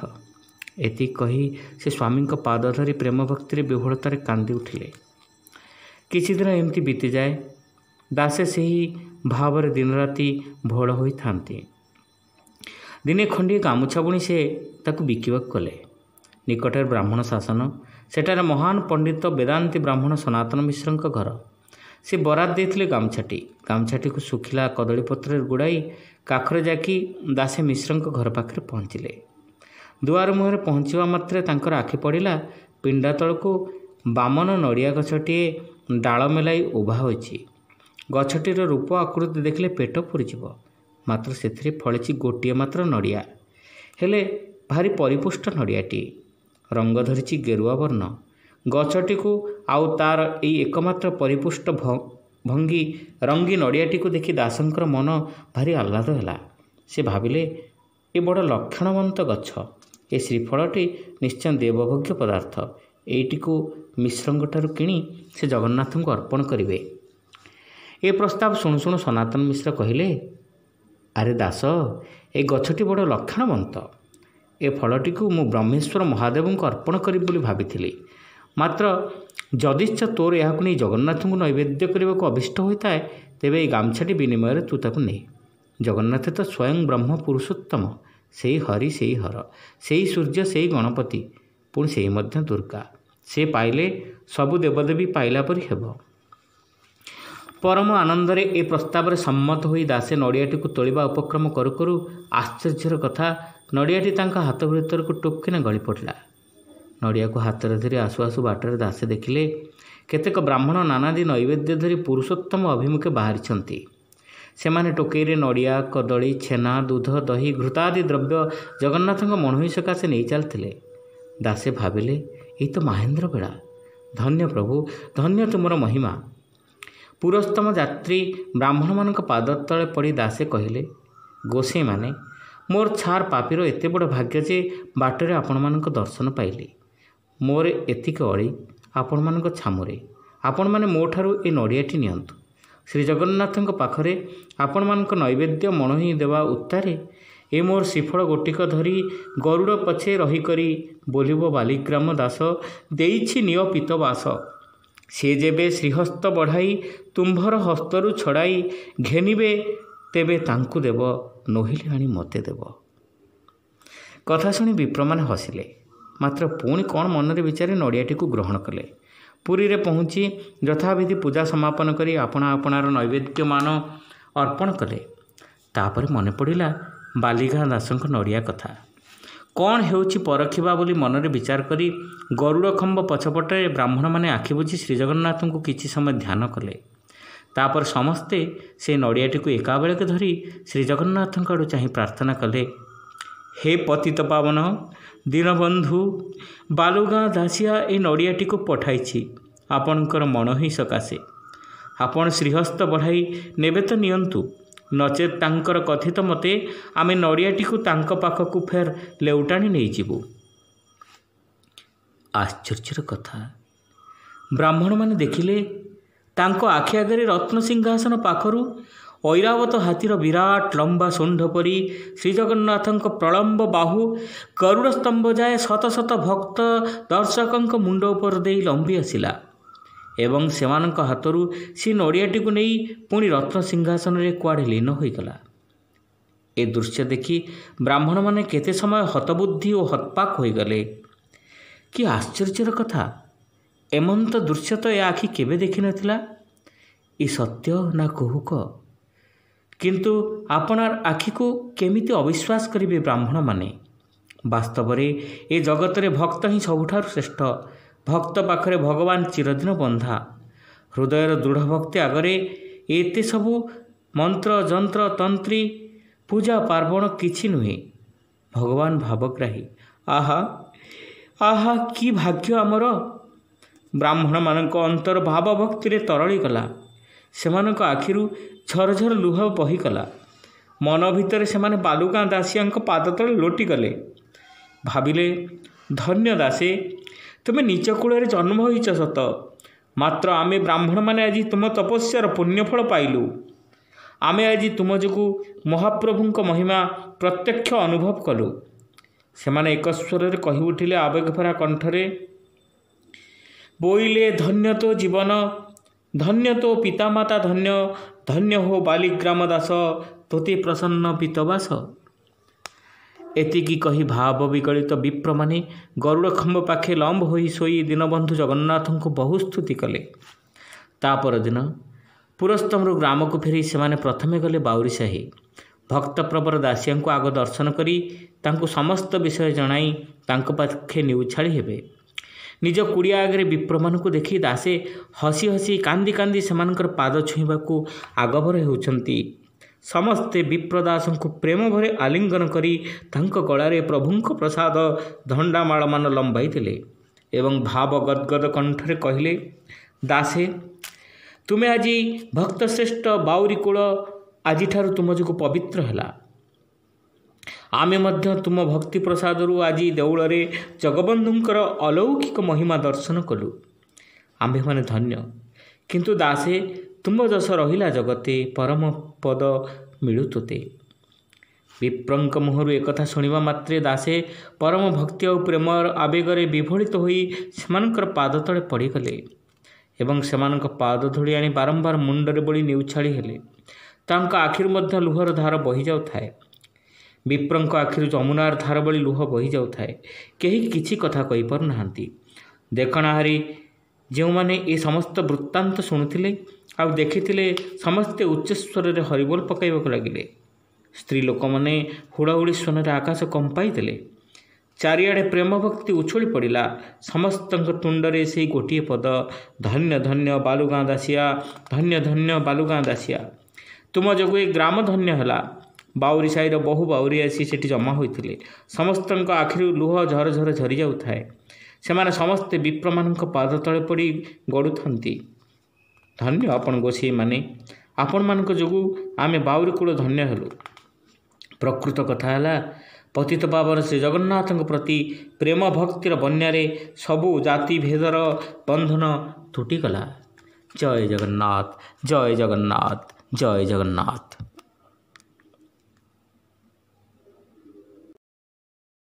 ଏତିକି କହି ସେ ସ୍ୱାମୀଙ୍କ ପାଦ ଧରି ପ୍ରେମ ଭକ୍ତିରେ ବିହ୍ୱଳତାରେ କାନ୍ଦି ଉଠିଲେ। କିଛିଦିନ ଏମିତି ବିତିଯାଏ। ଦାସେ ସେହି ଭାବରେ ଦିନରାତି ଭୋଳ ହୋଇଥାନ୍ତି। ଦିନେ ଖଣ୍ଡିଏ ଗାମୁଛା ବୁଣି ସେ ତାକୁ ବିକିବାକୁ ଗଲେ। ନିକଟରେ ବ୍ରାହ୍ମଣ ଶାସନ, ସେଠାରେ ମହାନ ପଣ୍ଡିତ ବେଦାନ୍ତୀ ବ୍ରାହ୍ମଣ ସନାତନ ମିଶ୍ରଙ୍କ ଘର। ସେ ବରାଦ ଦେଇଥିଲେ ଗାମୁଛାଟି। ଗାମୁଛାଟିକୁ ଶୁଖିଲା କଦଳୀପତ୍ରରେ ଗୁଡ଼ାଇ କାଖରେ ଜାକି ଦାସେ ମିଶ୍ରଙ୍କ ଘର ପାଖରେ ପହଞ୍ଚିଲେ। ଦୁଆର ମୁହଁରେ ପହଞ୍ଚିବା ମାତ୍ରେ ତାଙ୍କର ଆଖି ପଡ଼ିଲା ପିଣ୍ଡା ତଳକୁ ବାମନ ନଡ଼ିଆ ଗଛଟିଏ ଡାଳ ମେଲାଇ ଉଭା ହୋଇଛି। ଗଛଟିର ରୂପ ଆକୃତି ଦେଖିଲେ ପେଟ ପୁରିଯିବ, ମାତ୍ର ସେଥିରେ ଫଳିଛି ଗୋଟିଏ ମାତ୍ର ନଡ଼ିଆ। ହେଲେ ଭାରି ପରିପୁଷ୍ଟ ନଡ଼ିଆଟି, ରଙ୍ଗ ଧରିଛି ଗେରୁଆ ବର୍ଣ୍ଣ। ଗଛଟିକୁ ଆଉ ତାର ଏଇ ଏକମାତ୍ର ପରିପୁଷ୍ଟ ଭଙ୍ଗୀ ରଙ୍ଗୀ ନଡ଼ିଆଟିକୁ ଦେଖି ଦାସଙ୍କର ମନ ଭାରି ଆହ୍ଲାଦ ହେଲା। ସେ ଭାବିଲେ, ଏ ବଡ଼ ଲକ୍ଷଣବନ୍ତ ଗଛ, ଏ ଶ୍ରୀଫଳଟି ନିଶ୍ଚୟ ଦେବଭୋଗ୍ୟ ପଦାର୍ଥ। ଏଇଟିକୁ ମିଶ୍ରଙ୍କଠାରୁ କିଣି ସେ ଜଗନ୍ନାଥଙ୍କୁ ଅର୍ପଣ କରିବେ। ଏ ପ୍ରସ୍ତାବ ଶୁଣୁ ଶୁଣୁ ସନାତନ ମିଶ୍ର କହିଲେ, ଆରେ ଦାସ, ଏ ଗଛଟି ବଡ଼ ଲକ୍ଷଣବନ୍ତ। ଏ ଫଳଟିକୁ ମୁଁ ବ୍ରହ୍ମେଶ୍ୱର ମହାଦେବଙ୍କୁ ଅର୍ପଣ କରିବି ବୋଲି ଭାବିଥିଲି। ମାତ୍ର ଯଦିଶ୍ଚ ତୋର ଏହାକୁ ନେଇ ଜଗନ୍ନାଥଙ୍କୁ ନୈବେଦ୍ୟ କରିବାକୁ ଅଭୀଷ୍ଟ ହୋଇଥାଏ, ତେବେ ଏଇ ଗାମୁଛାଟି ବିନିମୟରେ ତୁ ତାକୁ ନେ। ଜଗନ୍ନାଥ ତ ସ୍ୱୟଂ ବ୍ରହ୍ମ ପୁରୁଷୋତ୍ତମ, ସେଇ ହରି ସେଇ ହର, ସେଇ ସୂର୍ଯ୍ୟ ସେଇ ଗଣପତି, ପୁଣି ସେଇ ମଧ୍ୟ ଦୁର୍ଗା। ସେ ପାଇଲେ ସବୁ ଦେବଦେବୀ ପାଇଲା ପରି ହେବ। ପରମ ଆନନ୍ଦରେ ଏ ପ୍ରସ୍ତାବରେ ସମ୍ମତ ହୋଇ ଦାସେ ନଡ଼ିଆଟିକୁ ତୋଳିବା ଉପକ୍ରମ କରୁ କରୁ ଆଶ୍ଚର୍ଯ୍ୟର କଥା, ନଡ଼ିଆଟି ତାଙ୍କ ହାତ ଭିତରକୁ ଟୁପକିନା ଗଳି ପଡ଼ିଲା। ନଡ଼ିଆକୁ ହାତରେ ଧରି ଆସୁ ଆସୁ ବାଟରେ ଦାସେ ଦେଖିଲେ କେତେକ ବ୍ରାହ୍ମଣ ନାନାଦି ନୈବେଦ୍ୟ ଧରି ପୁରୁଷୋତ୍ତମ ଅଭିମୁଖେ ବାହାରିଛନ୍ତି। ସେମାନେ ଟୋକେଇରେ ନଡ଼ିଆ, କଦଳୀ, ଛେନା, ଦୁଧ, ଦହି, ଘୃତାଦି ଦ୍ରବ୍ୟ ଜଗନ୍ନାଥଙ୍କ ମଣୋହି ସକାଶେ ନେଇ ଚାଲିଥିଲେ। ଦାସେ ଭାବିଲେ, ଏଇ ତ ମାହେନ୍ଦ୍ର ବେଳା, ଧନ୍ୟ ପ୍ରଭୁ, ଧନ୍ୟ ତୁମର ମହିମା। ପୁରସ୍ତମ ଯାତ୍ରୀ ବ୍ରାହ୍ମଣମାନଙ୍କ ପାଦ ତଳେ ପଡ଼ି ଦାସେ କହିଲେ, ଗୋସେଇମାନେ, ମୋର ଛାର ପାପୀର ଏତେ ବଡ଼ ଭାଗ୍ୟ ଯେ ବାଟରେ ଆପଣମାନଙ୍କ ଦର୍ଶନ ପାଇଲି। ମୋର ଏତିକି ଅଳି ଆପଣମାନଙ୍କ ଛାମୁରେ, ଆପଣମାନେ ମୋଠାରୁ ଏ ନଡ଼ିଆଟି ନିଅନ୍ତୁ। ଶ୍ରୀଜଗନ୍ନାଥଙ୍କ ପାଖରେ ଆପଣମାନଙ୍କ ନୈବେଦ୍ୟ ମଣୋହି ଦେବା ଉତ୍ତାରେ ଏ ମୋର ଶ୍ରୀଫଳ ଗୋଟିକ ଧରି ଗରୁଡ଼ ପଛେ ରହିକରି ବୋଲିବ ବାଲିଗ୍ରାମ ଦାସ, ଦେଇଛି ନିଅ ପିତବାସ। ସେ ଯେବେ ଶ୍ରୀହସ୍ତ ବଢ଼ାଇ ତୁମ୍ଭର ହସ୍ତରୁ ଛଡ଼ାଇ ଘେନିବେ, ତେବେ ତାଙ୍କୁ ଦେବ, ନୋହିଲେ ଆଣି ମୋତେ ଦେବ। କଥା ଶୁଣି ବିପ୍ରମାନେ ହସିଲେ, ମାତ୍ର ପୁଣି କ'ଣ ମନରେ ବିଚାରି ନଡ଼ିଆଟିକୁ ଗ୍ରହଣ କଲେ। ପୁରୀରେ ପହଞ୍ଚି ଯଥାବିଧି ପୂଜା ସମାପନ କରି ଆପଣା ଆପଣାର ନୈବେଦ୍ୟମାନ ଅର୍ପଣ କଲେ। ତାପରେ ମନେ ପଡ଼ିଲା ବାଲିଗାଁ ଦାସଙ୍କ ନଡ଼ିଆ କଥା। କ'ଣ ହେଉଛି ପରଖିବା ବୋଲି ମନରେ ବିଚାର କରି ଗରୁଡ଼ ଖମ୍ବ ପଛପଟରେ ବ୍ରାହ୍ମଣମାନେ ଆଖି ବୁଜି ଶ୍ରୀଜଗନ୍ନାଥଙ୍କୁ କିଛି ସମୟ ଧ୍ୟାନ କଲେ। ତାପରେ ସମସ୍ତେ ସେ ନଡ଼ିଆଟିକୁ ଏକାବେଳକେ ଧରି ଶ୍ରୀଜଗନ୍ନାଥଙ୍କ ଆଡ଼ୁ ଚାହିଁ ପ୍ରାର୍ଥନା କଲେ, ହେ ପତିତ ପାବନ ଦୀନବନ୍ଧୁ, ବାଲୁଗାଁ ଦାସିଆ ଏ ନଡ଼ିଆଟିକୁ ପଠାଇଛି ଆପଣଙ୍କର ମଣୋହି ସକାଶେ। ଆପଣ ଶ୍ରୀହସ୍ତ ବଢ଼ାଇ ନେବେ ତ ନିଅନ୍ତୁ, ନଚେତ୍ ତାଙ୍କର କଥିତ ମତେ ଆମେ ନଡ଼ିଆଟିକୁ ତାଙ୍କ ପାଖକୁ ଫେର ଲେଉଟାଣି ନେଇଯିବୁ। ଆଶ୍ଚର୍ଯ୍ୟର କଥା, ବ୍ରାହ୍ମଣମାନେ ଦେଖିଲେ ତାଙ୍କ ଆଖି ଆଗରେ ରତ୍ନସିଂହାସନ ପାଖରୁ ଐରାବତ ହାତୀର ବିରାଟ ଲମ୍ବା ଶୁଣ୍ଢ ପରି ଶ୍ରୀଜଗନ୍ନାଥଙ୍କ ପ୍ରଳମ୍ବ ବାହୁ ଗରୁଡ଼ ସ୍ତମ୍ଭ ଯାଏ ଶତ ଶତ ଭକ୍ତ ଦର୍ଶକଙ୍କ ମୁଣ୍ଡ ଉପର ଦେଇ ଲମ୍ବି ଆସିଲା ଏବଂ ସେମାନଙ୍କ ହାତରୁ ସେ ନଡ଼ିଆଟିକୁ ନେଇ ପୁଣି ରତ୍ନ ସିଂହାସନରେ କୁଆଡ଼େ ଲୀନ ହୋଇଗଲା। ଏ ଦୃଶ୍ୟ ଦେଖି ବ୍ରାହ୍ମଣମାନେ କେତେ ସମୟ ହତବୁଦ୍ଧି ଓ ହତବାକ୍ ହୋଇଗଲେ। କି ଆଶ୍ଚର୍ଯ୍ୟର କଥା, ଏମନ୍ତ ଦୃଶ୍ୟ ତ ଏ ଆଖି କେବେ ଦେଖିନଥିଲା। ଏ ସତ୍ୟ ନା କୁହୁକ? କିନ୍ତୁ ଆପଣାର ଆଖିକୁ କେମିତି ଅବିଶ୍ୱାସ କରିବେ ବ୍ରାହ୍ମଣମାନେ? ବାସ୍ତବରେ ଏ ଜଗତରେ ଭକ୍ତ ହିଁ ସବୁଠାରୁ ଶ୍ରେଷ୍ଠ। ଭକ୍ତ ପାଖରେ ଭଗବାନ ଚିରଦିନ ବନ୍ଧା। ହୃଦୟର ଦୃଢ଼ ଭକ୍ତି ଆଗରେ ଏତେ ସବୁ ମନ୍ତ୍ର ଯନ୍ତ୍ର ତନ୍ତ୍ରୀ ପୂଜା ପାର୍ବଣ କିଛି ନୁହେଁ। ଭଗବାନ ଭାବଗ୍ରାହୀ। ଆହା ଆହା, କି ଭାଗ୍ୟ ଆମର! ବ୍ରାହ୍ମଣମାନଙ୍କ ଅନ୍ତର ଭାବଭକ୍ତିରେ ତରଳିଗଲା। ସେମାନଙ୍କ ଆଖିରୁ ଝରଝର ଲୁହ ବହିଗଲା। ମନ ଭିତରେ ସେମାନେ ବାଲୁଗାଁ ଦାସିଆଙ୍କ ପାଦ ତଳେ ଲୋଟିଗଲେ। ଭାବିଲେ, ଧନ୍ୟ ଦାସେ, ତୁମେ ନିଜ କୂଳରେ ଜନ୍ମ ହୋଇଛ ସତ, ମାତ୍ର ଆମେ ବ୍ରାହ୍ମଣମାନେ ଆଜି ତୁମ ତପସ୍ୟାର ପୁଣ୍ୟଫଳ ପାଇଲୁ। ଆମେ ଆଜି ତୁମ ଯୋଗୁଁ ମହାପ୍ରଭୁଙ୍କ ମହିମା ପ୍ରତ୍ୟକ୍ଷ ଅନୁଭବ କଲୁ। ସେମାନେ ଏକ ସ୍ୱରରେ କହି ଉଠିଲେ ଆବେଗଭରା କଣ୍ଠରେ, ବୋଇଲେ ଧନ୍ୟ ତୋ ଜୀବନ, ଧନ୍ୟ ତୋ ପିତାମାତା, ଧନ୍ୟ ଧନ୍ୟ ହୋ ବାଲିଗ୍ରାମ ଦାସ, ତୋତେ ପ୍ରସନ୍ନ ପିତବାସ। ଏତିକି କହି ଭାବ ବିଗଳିତ ବିପ୍ରମାନେ ଗରୁଡ଼ ଖମ୍ବ ପାଖେ ଲମ୍ବ ହୋଇ ଶୋଇ ଦୀନବନ୍ଧୁ ଜଗନ୍ନାଥଙ୍କୁ ବହୁ ସ୍ତୁତି କଲେ। ତା ପରଦିନ ପୁରସ୍ତମରୁ ଗ୍ରାମକୁ ଫେରି ସେମାନେ ପ୍ରଥମେ ଗଲେ ବାଉରୀ ସାହି। ଭକ୍ତପ୍ରବର ଦାସିଆଙ୍କୁ ଆଗ ଦର୍ଶନ କରି ତାଙ୍କୁ ସମସ୍ତ ବିଷୟ ଜଣାଇ ତାଙ୍କ ପାଖେ ନିଉଛାଳି ହେବେ। ନିଜ କୁଡ଼ିଆ ଆଗରେ ବିପ୍ରମାନଙ୍କୁ ଦେଖି ଦାସେ ହସି ହସି କାନ୍ଦି କାନ୍ଦି ସେମାନଙ୍କର ପାଦ ଛୁଇଁବାକୁ ଆଗଭର ହେଉଛନ୍ତି। ସମସ୍ତେ ବିପ୍ରଦାସଙ୍କୁ ପ୍ରେମ ଭରେ ଆଲିଙ୍ଗନ କରି ତାଙ୍କ ଗଳାରେ ପ୍ରଭୁଙ୍କ ପ୍ରସାଦ ଧଣ୍ଡାମାଳମାନ ଲମ୍ବାଇ ଦେଲେ ଏବଂ ଭାବ ଗଦ୍ଗଦ କଣ୍ଠରେ କହିଲେ, ଦାସେ, ତୁମେ ଆଜି ଭକ୍ତଶ୍ରେଷ୍ଠ ବାଉରୀ କୂଳ ଆଜିଠାରୁ ତୁମ ଯୋଗୁଁ ପବିତ୍ର ହେଲା। ଆମେ ମଧ୍ୟ ତୁମ ଭକ୍ତି ପ୍ରସାଦରୁ ଆଜି ଦେଉଳରେ ଜଗବନ୍ଧୁଙ୍କର ଅଲୌକିକ ମହିମା ଦର୍ଶନ କଲୁ। ଆମ୍ଭେମାନେ ଧନ୍ୟ। କିନ୍ତୁ ଦାସେ, ତୁମ ଯଶ ରହିଲା ଜଗତେ, ପରମ ପଦ ମିଳୁ ତୋତେ। ବିପ୍ରଙ୍କ ମୁହଁରୁ ଏକଥା ଶୁଣିବା ମାତ୍ରେ ଦାସେ ପରମ ଭକ୍ତି ଆଉ ପ୍ରେମର ଆବେଗରେ ବିହ୍ୱଳିତ ହୋଇ ସେମାନଙ୍କର ପାଦ ତଳେ ପଡ଼ିଗଲେ ଏବଂ ସେମାନଙ୍କ ପାଦ ଧୂଳି ଆଣି ବାରମ୍ବାର ମୁଣ୍ଡରେ ବୋଳି ନିଉଛାଳି ହେଲେ। ତାଙ୍କ ଆଖିରୁ ମଧ୍ୟ ଲୁହର ଧାର ବହିଯାଉଥାଏ। ବିପ୍ରଙ୍କ ଆଖିରୁ ଯମୁନାର ଧାର ଭଳି ଲୁହ ବହିଯାଉଥାଏ। କେହି କିଛି କଥା କହିପାରୁନାହାନ୍ତି। ଦେଖଣାହାରି ଯେଉଁମାନେ ଏ ସମସ୍ତ ବୃତ୍ତାନ୍ତ ଶୁଣୁଥିଲେ ଆଉ ଦେଖିଥିଲେ, ସମସ୍ତେ ଉଚ୍ଚସ୍ୱରରେ ହରିବୋଲ ପକାଇବାକୁ ଲାଗିଲେ। ସ୍ତ୍ରୀ ଲୋକମାନେ ହୁଡ଼ାହୁଡ଼ି ସ୍ୱନରେ ଆକାଶ କମ୍ପାଇ ଦେଲେ। ଚାରିଆଡ଼େ ପ୍ରେମ ଭକ୍ତି ଉଛୁଳି ପଡ଼ିଲା। ସମସ୍ତଙ୍କ ତୁଣ୍ଡରେ ସେଇ ଗୋଟିଏ ପଦ, ଧନ୍ୟ ଧନ୍ୟ ବାଲୁଗାଁ ଦାସିଆ, ଧନ୍ୟ ଧନ୍ୟ ବାଲୁଗାଁ ଦାସିଆ, ତୁମ ଯୋଗୁଁ ଏ ଗ୍ରାମ ଧନ୍ୟ ହେଲା। ବାଉରୀ ସାହିର ବହୁ ବାଉରୀ ଆସି ସେଠି ଜମା ହୋଇଥିଲେ। ସମସ୍ତଙ୍କ ଆଖିରୁ ଲୁହ ଝର ଝର ଝରି ଯାଉଥାଏ। ସେମାନେ ସମସ୍ତେ ବିପ୍ରମାନଙ୍କ ପାଦ ତଳେ ପଡ଼ି ଗଡ଼ୁଥାନ୍ତି। ଧନ୍ୟ ଆପଣ ଗୋସେଇମାନେ, ଆପଣମାନଙ୍କ ଯୋଗୁଁ ଆମେ ବାଉରୀ କୂଳ ଧନ୍ୟ ହେଲୁ। ପ୍ରକୃତ କଥା ହେଲା, ପତିତ ପାବନ ଶ୍ରୀ ଜଗନ୍ନାଥଙ୍କ ପ୍ରତି ପ୍ରେମ ଭକ୍ତିର ବନ୍ୟାରେ ସବୁ ଜାତି ଭେଦର ବନ୍ଧନ ତୁଟିଗଲା। ଜୟ ଜଗନ୍ନାଥ, ଜୟ ଜଗନ୍ନାଥ, ଜୟ ଜଗନ୍ନାଥ।